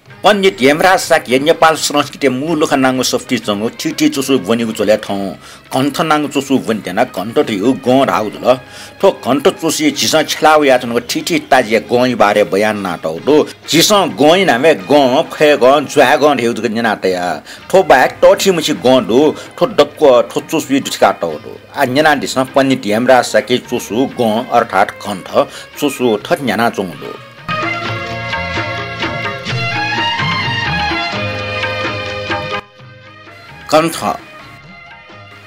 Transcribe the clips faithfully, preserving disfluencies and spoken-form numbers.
पण्डित हेमराज शाक्य नेपाल संस्कृतिया मू लखा नांगु सफुतिइ च्वंगु थीथी च्वसु ब्वनीगु झ्वलय् थौं कण्ठ नांगु च्वसु ब्वने त्यनाः कण्ठ धइगु गं धाःगु जुल। थ्व कण्ठ च्वसुइ झीसं छ्यला वयाच्वनागु थीथी ताजिया गंया बारे बयान यानातःगु दु। झीसं गंया नामय् गं, फय्गं, ज्वाय्गं धइगु जक न्यना तया। थ्व बाहेक तःथिमछि गं दु। थ्व दक्व थ्व च्वसुइ दुथ्याकातःगु दु। आः न्यनादिसँ पण्डित हेमराज शाक्य च्वसु गं अर्थात् कण्ठ च्वसु थथे न्ह्यानाच्वंगु दु। कण्ठ।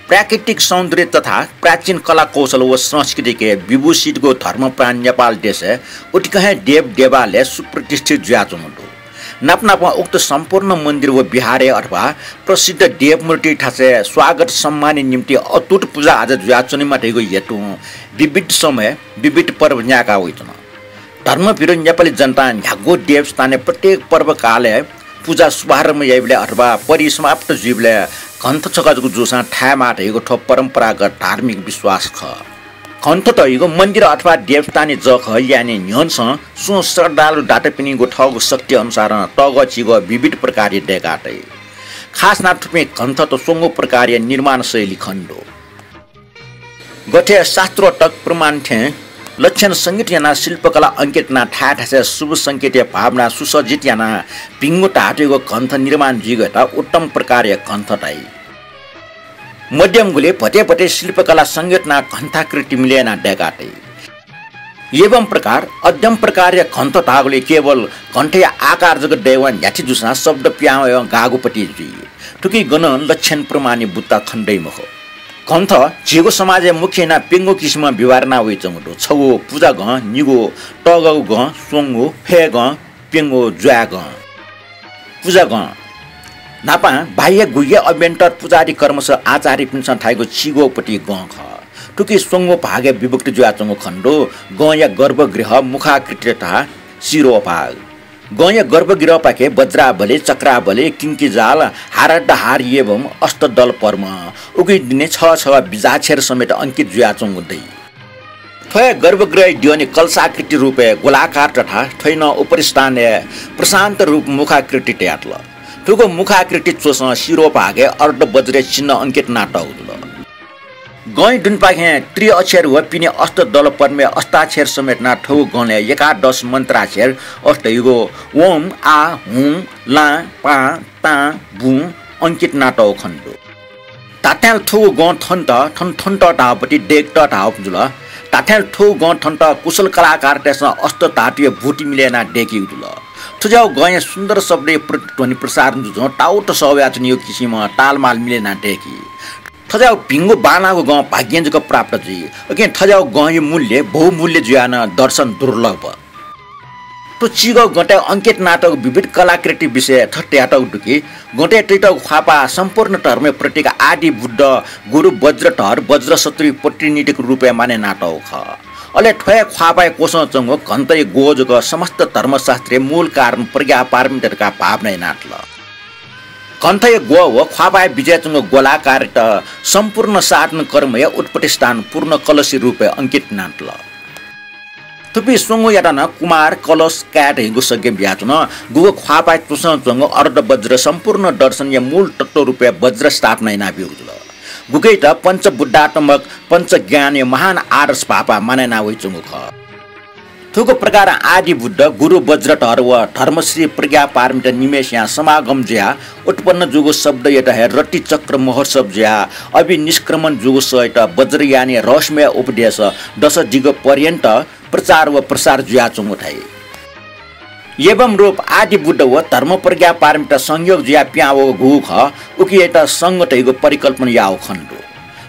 प्राकृतिक सौन्दर्य तथा प्राचीन कला कौशल व संस्कृतिके विभूषितगु धर्मप्राण नेपाल देशय् उतिकं हे देव देवालय सुप्रतिष्ठित जुयाच्वंगु दु। नाप नापं उक्त सम्पूर्ण मन्दिर व विहारय् अथवा प्रसिद्ध देवमूर्ति थासय् स्वागत सम्मानया निम्ति अटुट पुजा आजा जुयाच्वनेमा धइगु हेतुं विविध समय विविध पर्व न्यायेका वइच्वन। धर्मभिरु नेपाली जनतां न्ह्यागु देवस्थानय् प्रत्येक पर्वकालय् पुजा शुभारम्भ याइबलय् अथवा परिसमाप्त जुइबलय् घण्ठ छकः जक जूसां थायेमाः धइगु थ्व परम्परागत धार्मिक विश्वास खः। घण्ठ धइगु मन्दिर अथवा देवस्थानया जःखः ल्याने न्ह्यःने सुं श्रद्धालु दातापिनिगु थःगु शक्ति अनुसारं तःगः चिगः विविध प्रकारया दय्का तइ। खास यानाः थुपिं घण्ठत स्वंगू प्रकारया निर्माण शैली खनेदु। गथे शास्त्रोक्त प्रमाण थें लक्षण संज्ञित यानाः शिल्पकला अंकित यानाः थाय् थासय् शुभ संकेतया भावना सुसज्जित यानाः भिंगु धातुयागु घण्ठ निर्माण जुइगु यात उत्तम प्रकारया घण्ठ धाइ। मध्यम गुलि भते भते शिल्पकला संज्ञित यानाः घण्ठाकृति मिले यानाः दय्का तइ। एवं प्रकार अध्यम प्रकारया घण्ठ धाःगुलिं केवल घण्ठया आकार जक दयेवं न्ह्याथे जूसां शब्द पिहां वयेवं गाःगुपति जुइ। थुकी गनं लक्षण प्रमाणया बुत्ता खने दइ मखु। घण्ठ झीगु समाजय् मुख्य यानाः प्यंगू किसिमं व्यवहार याना वइच्वंगु दु। छगू पुजा गं, निगू तःगःगु गं, स्वंगू फय् गं, प्यंगू ज्वाय् गं। पुजा गं। न्हापां बाह्य गुह्य अभ्यन्तर पुजादि कर्मस आचार्यपिन्सं थाइगु चिगःपति गं खः। थुकी स्वंगू भागय् विभक्त जुयाच्वंगु खने दु। गंया गर्भगृह, मुखाकृति तथा शिरोभाग। गंया गर्भगृहपाखे वज्रावली, चक्रावली, किंकिजाल, हाराड्डहार एवं अष्टदल पद्म, उकी दुने छगः छगः बिजाक्षर समेत अंकित जुयाच्वंगु दइ। थ्वया गर्भगृहया द्यःने कलशाकृति रूपय् गोलाकार तथा थ्वया नं उपरिस्थानय् प्रशान्त रूप मुखाकृति तयातल। थुगु मुखाकृति च्वसं शिरोभागय् अर्धवज्रया चिन्ह अंकित यानातःगु जुल। गंया दुनेपाखें त्रिअक्षर व पिने अष्टदल पद्मय् अष्टाक्षर समेत यानाः थुगु गंलय् एकादश मन्त्राक्षर अष्टयुगो ओं, आः, हुं, लां, पां, तां, बुं अंकित यानातःगु खने दु। धात्थें थुगु गं थन्त, थन थन्त धाःपति दय्केत धाःगु जुल। धात्थें थुगु गं थन्त कुशल कलाकारतय्सं अष्टधातुया भूति मिले यानाः दय्कीगु जुल। थुज्याःगु गंया सुन्दर शब्दया प्रतिध्वनि प्रसारण जुजुं ताउत सः वयाच्वनीगु किसिमं तालमाल मिले यानाः दय्की। थज्याःगु भिंगु बांलाःगु गं भाग्यं जक प्राप्त जुइ। उकिं थज्याःगु गंया मूल्य बहुमूल्य जुयाः नं दर्शन दुर्लभ। थ्व चिगःगु गँतय् अंकित यानातःगु विविध कलाकृति विषयय् थथे धयातःगु दु कि, गँतय् तयातःगु ख्वाःपाः सम्पूर्ण धर्मया प्रतीक आदि बुद्ध, गुरु वज्रधर, वज्रशत्रुया प्रतिनिधिक रूपय् मानय् यानातःगु खः। अले थ्व हे ख्वाःपाःया क्वसं च्वंगु घण्ठया ग्वः जक समस्त धर्मशास्त्रया मूल कारण प्रज्ञापारमिता धकाः भावना यानातल। घण्ठया ग्वः व ख्वाःपाःया बिचय् च्वंगु गोलाकारयात सम्पूर्ण साधन कर्मया उत्पत्ति स्थान पूर्ण कलशया रूपय् अंकित यानातल। थुपिं स्वंगूयात नं कुमार, कलश, काय् धइगु संज्ञा बियाच्वन। गुगु ख्वाःपाःया क्वसं च्वंगु अर्धवज्र सम्पूर्ण दर्शनया मूल तत्त्व रूपय् वज्र स्थापना यानाब्यूगु जुल। गुगुयात पञ्चबुद्धात्मक पञ्चज्ञानया महान आदर्श भाःपाः मानय् याना वइच्वंगु खः। थुगु प्रकारं आदि बुद्ध, गुरु वज्रधर व धर्मश्री प्रज्ञापारमिता निम्हय्सिया समागम जुयाः उत्पन्न जूगु शब्दयात हे रतिचक्र महोत्सव जुयाः अभिनिष्क्रमण जूगु सःयात वज्रयानया रहस्यमय उपदेश दश दिग पर्यन्त प्रचार व प्रसार जुयाच्वंगु धाइ। एवं रूप आदि बुद्ध व धर्म प्रज्ञापारमिता संयोग जुयाः पिहां वःगु गुगु खः, उकियात संघ धइगु परिकल्पना याःगु खने दु।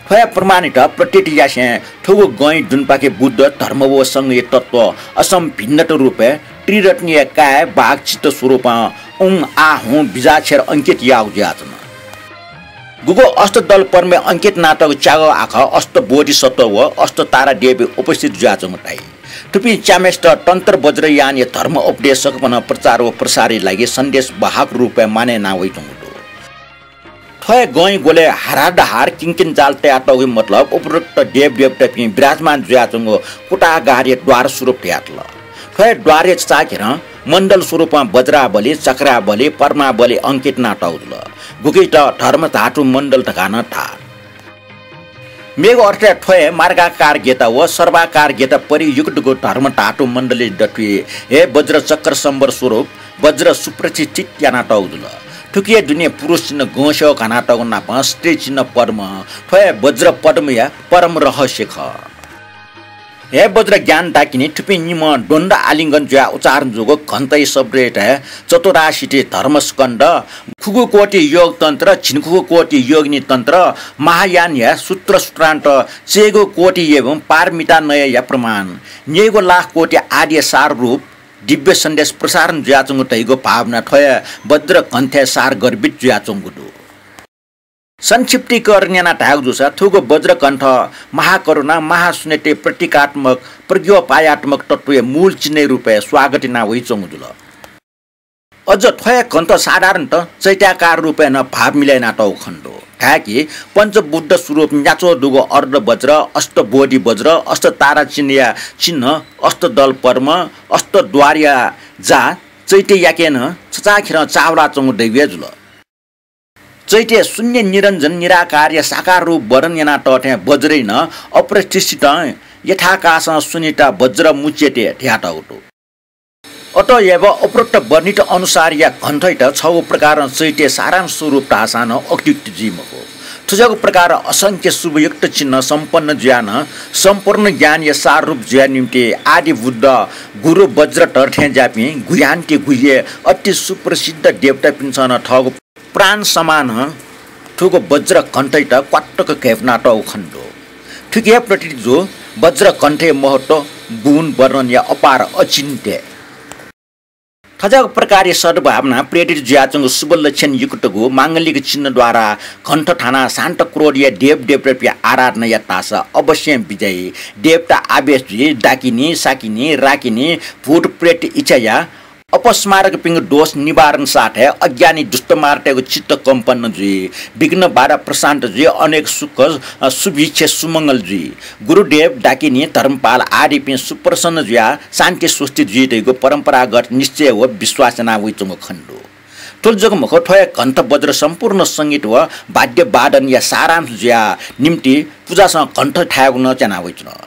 थ्वया प्रमाणयात प्रतीत यासें थुगु गँया दुनेपाखे बुद्ध, धर्म व संघया तत्त्व असम्भिन्नत रूपय् त्रिरत्नया काय्, वाक्, चित्त स्वरूपं उं, आः, हुं बिजाक्षर अंकित याःगु जुयाच्वन। गुगु अष्टदल पद्मय् अंकित यानातःगु च्यागः आखः अष्टबोधिसत्व व अष्टतारादेवी उपस्थित जुयाच्वंगु धाइ। थुपिं च्याम्हय्सित तन्त्र वज्रयानया धर्म उपदेश सकभनं प्रचार व प्रसारया लागि सन्देश वाहक रूपय् मानय् याना वइच्वंगु दु। थ्व हे गँया ग्वलय् हाराड्डहार किंकिंजाल तयातःगुया मतलब उपरोक्त देवदेवतापिं विराजमान जुयाच्वंगु कुटागारया द्वार स्वरूप धयातल। थ्व हे द्वारया चाःघिरं मण्डल स्वरूपं वज्रावली, चक्रावली, पद्मावली अंकित यानातःगु जुल। गुकित धर्म धातु मण्डल धकाः नं धाः। मेगु अर्थय् थ्व हे मार्गाकार गेत व सर्वाकार गेत परियुक्तगु धर्म धातु मण्डलय् दथुइ हे वज्र चक्र सम्बर स्वरूप वज्र सुप्रतिष्ठित यानातःगु जुल। थुकिया दुने पुरुष चिन्ह गंस्यः घानातःगु नापं स्त्री चिन्ह पद्म, थ्व हे वज्र पद्मया परम रहस्य खः। हे वज्र ज्ञान डाकिनी, थुपिं निम्हं द्वन्द्व आलिङ्गन जुयाः उच्चारण जूगु घण्टया शब्दय् चतुराशीति धर्मस्कन्ध, खुगू कोटि योग तन्त्र, झिंखुगू कोटि योगिनी तन्त्र, महायानया सूत्र सूत्रान्त, चय्गू कोटि एवं पारमिता नयया प्रमाण, न्यय्गू लाख कोटि आदिया सार रूप दिव्य सन्देश प्रसारण जुयाच्वंगु धइगु भावना थ्व हे वज्र कण्ठय् सार गर्भित जुयाच्वंगु दु। संक्षिप्तीकरण यानाः धायेगु जूसा थुगु वज्रकण्ठ महाकरुणा, महाशून्यतय् प्रतीकात्मक, प्रज्ञोपायात्मक तत्त्वया मूल चिन्हया रूपय् स्वागत याना वइच्वंगु जुल। अझ थ्व हे कण्ठ साधारणतः चैत्याकार रूपय् नं भाव मिले यानातःगु खने दु। धाय्कि पञ्चबुद्ध स्वरूप न्याच्वः दुगु अर्धवज्र, अष्टबोधि वज्र, अष्टतारा चिन्हया चिन्ह, अष्टदल पद्म, अष्टद्वारया जा चैत्ययाके नं छचाःखेरं चाःहुलाच्वंगु दइगु हे जुल। चैत्यय् शून्य निरञ्जन निराकारया साकार रूप वर्णन यानातःथें वज्रय् नं अप्रतिष्ठितं यथाकाशं शून्यता वज्र मुच्यते धयातःगु दु। अतएव उपरोक्त वर्णित अनुसारया कण्ठयात छगू प्रकारं चैत्यया सारांश स्वरूप धाःसां नं अत्युक्ति जुइ मखु। थुज्याःगु प्रकारं असंख्य शुभयुक्त चिन्ह सम्पन्न जुयाः नं सम्पूर्ण ज्ञानया सार रूप जुया निम्ति आदि बुद्ध गुरु वज्रधर थें ज्याःपिं गुह्यान्ति गुह्य अति सुप्रसिद्ध देवतापिन्सं नं थःगु प्राण समान थुगु वज्रकण्ठयात क्वातुक घय्पुनातःगु खने दु। थुकिया प्रतीत जू वज्रकण्ठया महत्व, गुण वर्णनया अपार अचिन्त्य। थज्याःगु प्रकारया सद्भावना प्रेरित जुयाच्वंगु शुभ लक्षण युक्तगु मांगलिक चिन्ह द्वारा कण्ठ थानाः शान्त क्रोधया देवदेवतापिं आराधना यात धाःसा अवश्यं विजयी देवता आवेश जुइ, डाकिनी, साकिनी, राकिनी, भूत प्रेत इच्छाया अपस्मारकपिंगु दोष निवारण साथय् अज्ञानी दुष्टमारतय्गु चित्त कम्पन जुइ, विघ्न बाधा प्रशान्त जुइ, अनेक सुख, अ, सुभिक्ष सुमंगल जुइ। गुरुदेव, डाकिनी, धर्मपाल आदिपिं सुप्रसन्न जुयाः शान्ति स्वस्ति जुइ धइगु परम्परागत निश्चय व विश्वास याना वइच्वंगु खने दु। थुलि जक मखु, थ्व हे कण्ठ वज्र सम्पूर्ण संगीत व वाद्य वादनया सारांश जुयाः निम्ति पुजासं कण्ठ थायेगु नं च्वना वइच्वन।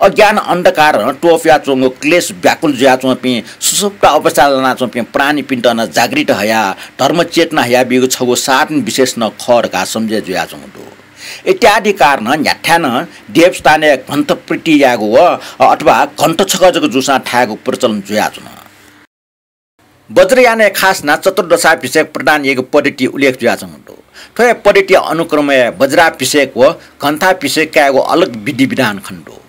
अज्ञान अन्धकारं त्वपुयाच्वंगु क्लेश व्याकुल जुयाच्वंपिं सुसुप्त अवस्थाय् लानाच्वंपिं प्राणीपिन्त नं जागृत हयाः धर्म चेतना हयाबीगु छगू साधन विशेष नं खः धकाः सम्झे जुयाच्वंगु दु। इत्यादि कारणं न्ह्याथाय् नं देवस्थानय् कण्ठ प्रीति यायेगु व अथवा कण्ठ छकः जक जूसां थायेगु प्रचलन जुयाच्वन। वज्रयानय् खास यानाः चतुर्दशाभिषेक प्रदान याइगु पद्धति उल्लेख जुयाच्वंगु दु। थ्व हे पद्धतिया अनुक्रमय् वज्राभिषेक व कण्ठाभिषेक कायेगु अलग विधिविधान खने दु।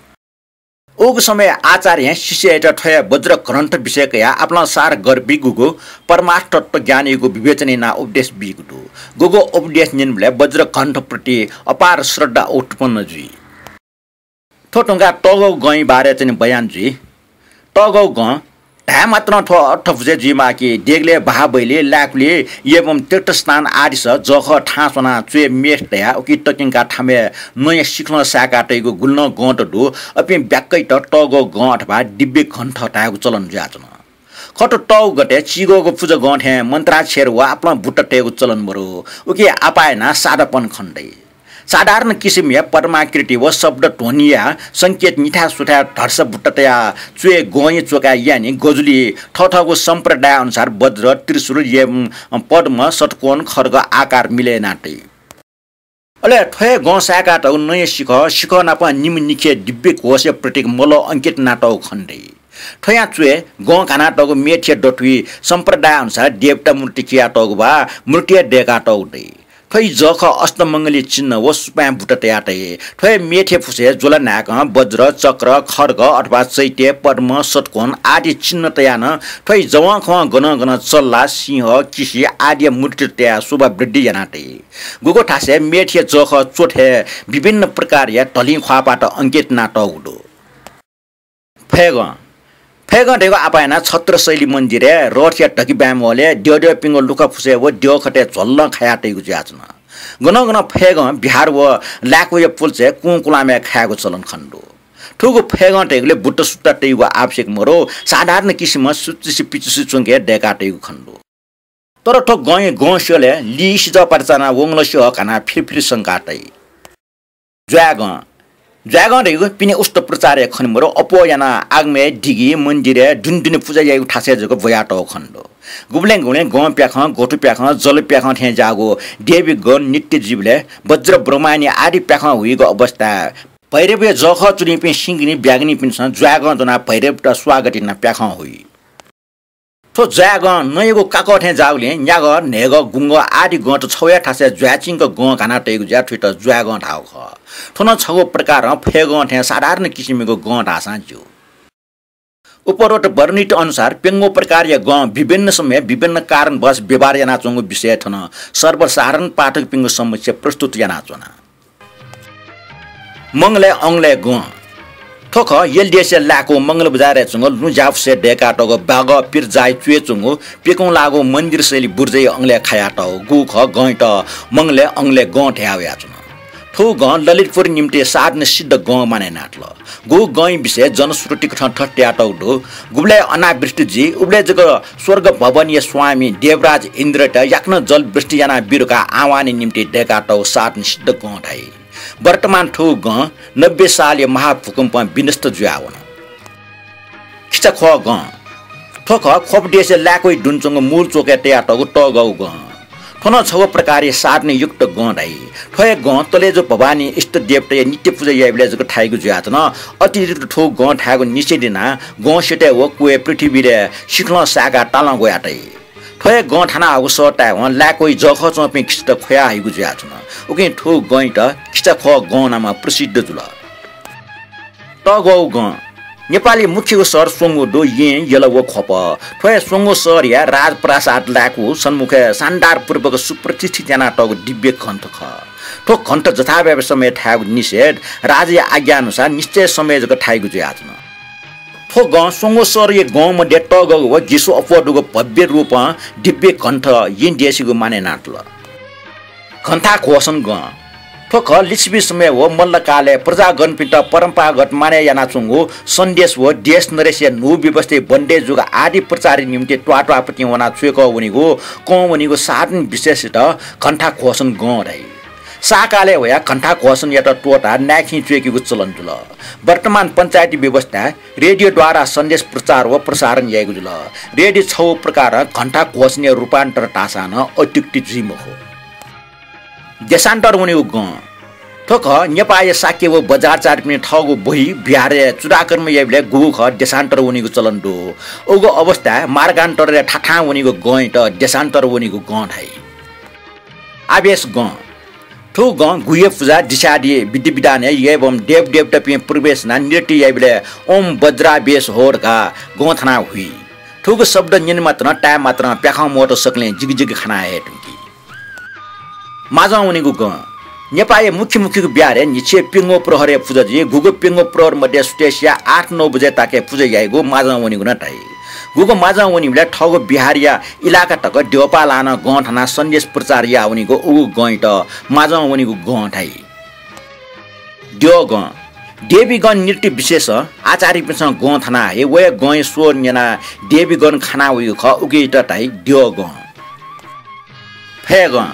उगु समय् आचार्यं शिष्ययात थ्व हे वज्रकण्ठाभिषेक कयाः आपालं सार गर्भिगु परमार्थ तत्त्व ज्ञानयागु विवेचन यानाः उपदेश बीगु दु। गुगु उपदेश न्यनेबलय् वज्रकण्ठ प्रति अपार श्रद्धा उत्पन्न जुइ। थ्व धुंकाः तःगःगु गंया बारे चाहिँ बयान जुइ। तःगःगु गं धाये मात्रं थ्व अर्थबुझे जुइमाः कि देगलय् बहाः बइलय्, लाय्कुलय् एवं तीर्थस्थान आदिस जःखः थाहां स्वनाः च्वय् मेथ तयाः उकी तक्यंकाः थामय् नँया सिखलं साय्काः तइगु गुलि नं गंत दु। अपिं ब्याक्कयात तःगःगु गं अथवा दिव्य कण्ठ धायेगु चलन जुयाच्वन। खः त, तःगु गते चिगःगु पुजा गं थें मन्त्राक्षर व आपालं बुट्टा तयेगु चलन मरु। उकी आपाः यानाः सादापन खने दइ। साधारण किसिमया पद्माकृति व शब्द ध्वनिया संकेत निथाय् सुथाय् धर्सा बुट्टा तयाः च्वय् गंया च्वकाय् याये नि गजुलिइ थःथःगु सम्प्रदाय अनुसार वज्र, त्रिशूल एवं पद्म, षट्कोण, खड्ग आकार मिले यानाः तइ। अले थ्व हे गं साय्कातःगु नँया सिखः, सिखः नाप निम्ह निखे दिव्य घोषया प्रतीक मलः अंकित यानातःगु खने दइ। थ्वयां च्वय् गं घानातःगु मेथया दथुइ सम्प्रदाय अनुसार देवता मूर्ति चियातःगु वा मूर्तिया दय्कातःगु दइ। थ्वइ जःखः अष्टमंगली चिन्ह व सुपाँय् बुट्टा तयाः तइ। थ्वइ मेथया फुसय् ज्वला न्हाय्कं वज्र, चक्र, खड्ग अथवा चैत्य, पद्म, षट्कोण आदि चिन्ह तयाः नं थ्वइ जवंखवं गनं गनं चल्ला, सिंह, किसि आदिया मूर्ति तयाः शोभा वृद्धि यानाः तइ। गुगु थासय् मेथया जःखः च्वथय् विभिन्न प्रकारया धलिं ख्वाःपाःत अंकित यानातःगु दु। फय्गं। फय्गं धइगु आपाः यानाः छत्रशैली मन्दिरय् रथया धकिबाँय् मोलय् द्यःद्यःपिंगु लुखा फुसय् व द्यःखतय् झ्वलं खाया तइगु जुयाच्वन। गनं गनं फय्गं बिहार व लाय्कुया पुल्चय् कुंकुलामय् खायेगु चलन खने दु। थुगु फय्गं तयेगुलय् बुट्ट सुट्टा तयेगु आवश्यक मरु, साधारण किसिमं सुच्चुसे पिचुसे च्वंके दय्का तयेगु खनेदु। तर थ्व गंया गं स्यलय् लिसिजः पाता चानाः वंगलसिहः घानाः फिर फिर संका तइ। ज्वाय्गं। ज्वाय्गं धइगु पिने उष्ट प्रचारय् खने मरु, अप्वः यानाः आगमय् दिगि, मन्दिरय्, दुने दुने पुजा याइगु थासय् जक ब्वयातःगु खनेदु। गुबलें गुबलें गं प्याखं, ग्वथु प्याखं, जल प्याखं थें ज्याःगु देवी गण नृत्य जुइबलय् वज्र ब्रह्मायणी आदि प्याखं हुइगु अवस्थाय् भैरवया जःखः च्वनीपिं सिंगिनी ब्यागनीपिन्सं ज्वाय्गं ज्वनाः भैरवयात स्वागत यानाः प्याखं हुइ। थ्व ज्वाय्गं नँयागु काकः थें ज्याःगुलिं न्यागः, न्हय्गः, गुंगः आदि गंत छगू हे थासय् ज्वाय्चिंक गं घाना तइगु जुयाः थुइत ज्वाय्गं धाःगु खः। थ्व नं छगू प्रकारं फय्गं थें साधारण किसिमयागु गं धाःसां ज्यू। उपरोक्त वर्णित अनुसार प्यंगू प्रकारया गं विभिन्न समयय् विभिन्न कारणवश व्यवहार यानाच्वंगु विषय थन सर्वसाधारण पाठकपिनिगु समक्ष प्रस्तुत यानाच्वना। मंगलय् अंगलय् गं। थ्व खः यल देशय् लाय्कूगु मंगल बजारय् च्वंगु लुँ ज्याफुसय् दय्कातःगु बागः पिर जाःया च्वय् च्वंगु प्यकूं लाःगु मन्दिर शैली बुर्जाया अंगलय् खायातःगु। गुगु खः गंयात मंगलय् अंगलय् गं धया वयाच्वन। थुगु गं ललितपुर निम्ति साधन सिद्ध गं मानय् यानातल। गुगु गंया विषय जनश्रुतिकथं थथे धयातःगु दु, गुबलय् अनावृष्टि जुइ, उबलय् जक स्वर्ग भवनया स्वामी देवराज इन्द्रयात याकनं जलवृष्टि यानाः बी धकाः आह्वानया निम्ति दय्कातःगु साधन सिद्ध गं धाइ। वर्तमान थुगु गं नब्बे सालया महाभूकम्पं विनष्ट जुयावन। खिचाख्वः गं। थ्व खः ख्वप देशय् लाय्कूया दुने च्वंगु मूल चोकय् तयातःगु तःगःगु गं। थ्व नं छगू प्रकारया साधनयुक्त गं धाइ। थ्व हे गं तलेजु भवानी इष्ट देवताया नित्य पुजा याइबलय् जक थाइगु जुयाच्वन। अतिरिक्त थुगु गं थायेगु निषेध यानाः गं स्यतय् व क्वय् पृथ्वीलय् सिखलं साय्काः तालं ग्वयातइ। थ्व हे गं थानाहःगु सः तायेवं लाय्कूया जःखः च्वंपिं खिचात ख्वया हइगु जुयाच्वन। उकिं थुगु गंयात खिचाख्वः गं नामं प्रसिद्ध जुल। तःगःगु गं। नेपालया मुख्यगु शहर स्वंगू दु येँ, यल व ख्वप। थ्व हे स्वंगू शहरया राजप्रासाद लाय्कूया सन्मुखय् शानदारपूर्वक सुप्रतिष्ठित यानातःगु दिव्य घण्ट खः। थ्व घण्ट जथाभावी समयय् थायेगु निषेध, राजाया आज्ञा अनुसार निश्चय समयय् जक थाइगु जुयाच्वन। थ्व गं स्वंगू शहरया गं मध्ये तःगःगु व गिसो अप्वः दुगु भव्य रूपं दिव्य घण्ट येँ देशीगु मानय् यानातल। घण्टाघोषण गं। थ्व खः लिच्छवि समय व मल्लकालय् प्रजागणपिन्त परम्परागत मानय् यानाच्वंगु सन्देश व देश नरेशया न्हू व्यवस्थाया बन्देज जूगु आदि प्रचारया निम्ति त्वाःत्वाःपतिं वनाः च्वय्कः वनीगु, कं वनीगु साधन विशेषयात घण्टाघोषण गं धाइ। शाहकालय् वयाः घण्टाघोषणयात त्वःताः नाय्खिं च्वय्केगु चलन जुल। वर्तमान पञ्चायती व्यवस्थाय् रेडियोद्वारा सन्देश प्रचार व प्रसारण याइगु जुल। रेडियो छगू प्रकारं घण्टाघोषणया रूपान्तर धाःसां नं अत्युक्ति जुइ मखु। देशान्तर वनीगु गं। थ्व खः नेपाःया शाक्य व बज्राचार्यपिनि थःगु बहि विहारय् चूडाकर्म याइबलय् गुगु खः देशान्तर वनीगु चलन दु। उगु अवस्थाय् मार्गान्तरय् थाथां वनीगु गंयात देशान्तर वनीगु गं धाइ। आवेश गं। थुगु गं गुह्य पुजा, दिशादि, विधि विधानय् यय्बम देवदेवतापिं प्रवेश यानाः नृत्य याइबलय् ओम वज्रावेश हो धकाः गं थानाः हुइ। थुगु शब्द न्यने मात्रं, ताये मात्रं प्याखं मोट सकलें जिगि जिगि खाना हये धुंकी। माजं वनीगु गं। नेपाःया मुख्य मुख्यगु विहारय् न्हिच्छिया प्यंगू प्रहरया पुजा जुइ। गुगु प्यंगू प्रहर मध्ये सुथय् सिया आठ नौ बजे ताके पुजा याइगु माजं वनीगु नं धाइ। गुगु माजं वनीबलय् थःगु विहारया इलाका तक द्यःपाः लानाः गं थानाः सन्देश प्रचार याः वनीगु उगु गंयात माजं वनीगु गं धाइ। द्यःगं। देवीगण नृत्य विशेष आचार्यपिन्सं गं थानाः हइ। व हे गंया स्वर न्यनाः देवीगण खाना वइगु खः, उकियात धाइ द्यःगं। फय्गं।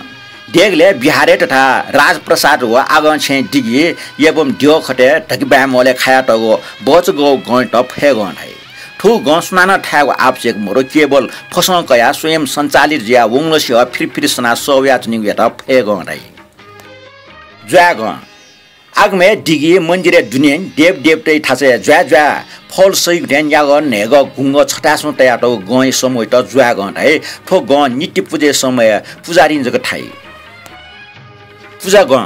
देगलय् विहारय् तथा राजप्रासाद व आगंछेँय् दिगि, यय्बम द्यःखतय् धकिबाय् मोलय् खायातःगु बचगःगु गंयात फय्गं धाइ। थुगु गं सुनानं थायेगु आवश्यक मरु, केवल फसं कयाः स्वयं सञ्चालित जुयाः वंगलसिहः फिर फिर सनाः सः वयाच्वनीगुयात फय्गं धाइ। ज्वाय्गं। आगमय् दिगि, मन्दिरय् दुने, देवदेवताया थासय् ज्वाय् ज्वाय् फल सइगु थें न्यागः, न्हय्गः, गुंगः छथाय् स्वं तयातःगु गंया समूहयात ज्वाय्गं धाइ। थ्व गं नित्य पुजाया समयय् पुजारीं जक थाइ। पुजागं।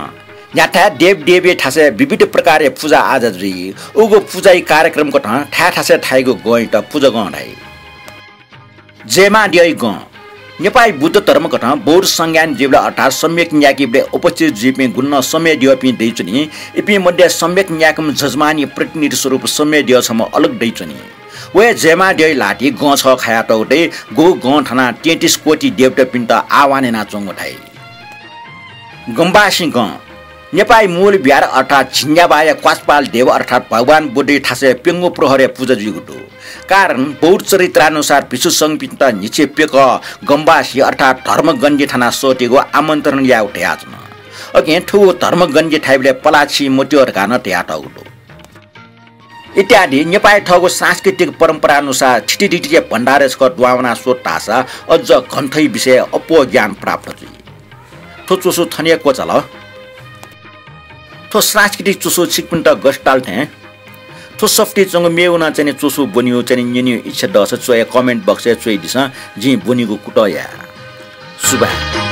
न्ह्याथाय् देवदेवीया थासय् विविध प्रकारया पुजा आजा जुइ। उगु पुजाया कार्यक्रम कथं थाय् थासय् थाइगु गंयात पुजागं धाइ। जयमाद्यःया गं। नेपाःया बुद्ध धर्म कथं बौद्ध संज्ञान जुइबलय् अर्थात् सम्यक न्यायेकेबलय् उपस्थित जुइपिं गुलिं नं सम्यद्यःपिं दइच्वनी। इपिं मध्ये सम्यक न्यायेकेम्ह जजमानया प्रतिनिधि स्वरूप सम्यद्यः छम्ह अलग दइच्वनी। व हे जयमाद्यःया ल्हातिइ गं छगः खायातःगु दइ। गुगु गं थानाः तेत्तिस कोटि देवतापिन्त आह्वान यानाच्वंगु धाइ। गम्बासिं गं। नेपाःया मूल बिहार अर्थात् झिंग्याबाःया क्वासपाल देव अर्थात् भगवान बुद्धया थासय् प्यंगू प्रहरया पुजा जुइगु दु। कारण बौद्ध चरित्रानुसार भिक्षु संघपिन्त न्हिच्छि प्यकः गम्बासी अर्थात् धर्मगञ्जी थाना सःतेगु आमन्त्रण यायेगु धयाच्वन। अकिं थुगु धर्मगञ्जी थाइबलय् पलाः छि मत्यः धकाः नं धयातःगु दु। इत्यादि नेपाःया थःगु सांस्कृतिक परम्परानुसार थितिथितिया भण्डारय् छकः दुहां वनाः स्वत धाःसा अझ ग्रन्थया विषयय् अप्वः ज्ञान प्राप्त जुइ। थ्व च्वसु थन हे क्वचाल। थ्व सांस्कृतिक च्वसु छिकपिन्त गथे ताल थें थ्व सफुतिइ च्वंगु मेगु नं चाहिँ नि च्वसु ब्वनेगु चाहिँ नि न्यनेगु इच्छा दःसा च्वय् comment box-य् च्वयादिसँ, जिं ब्वनेगु कुतः याये। सुभाय्।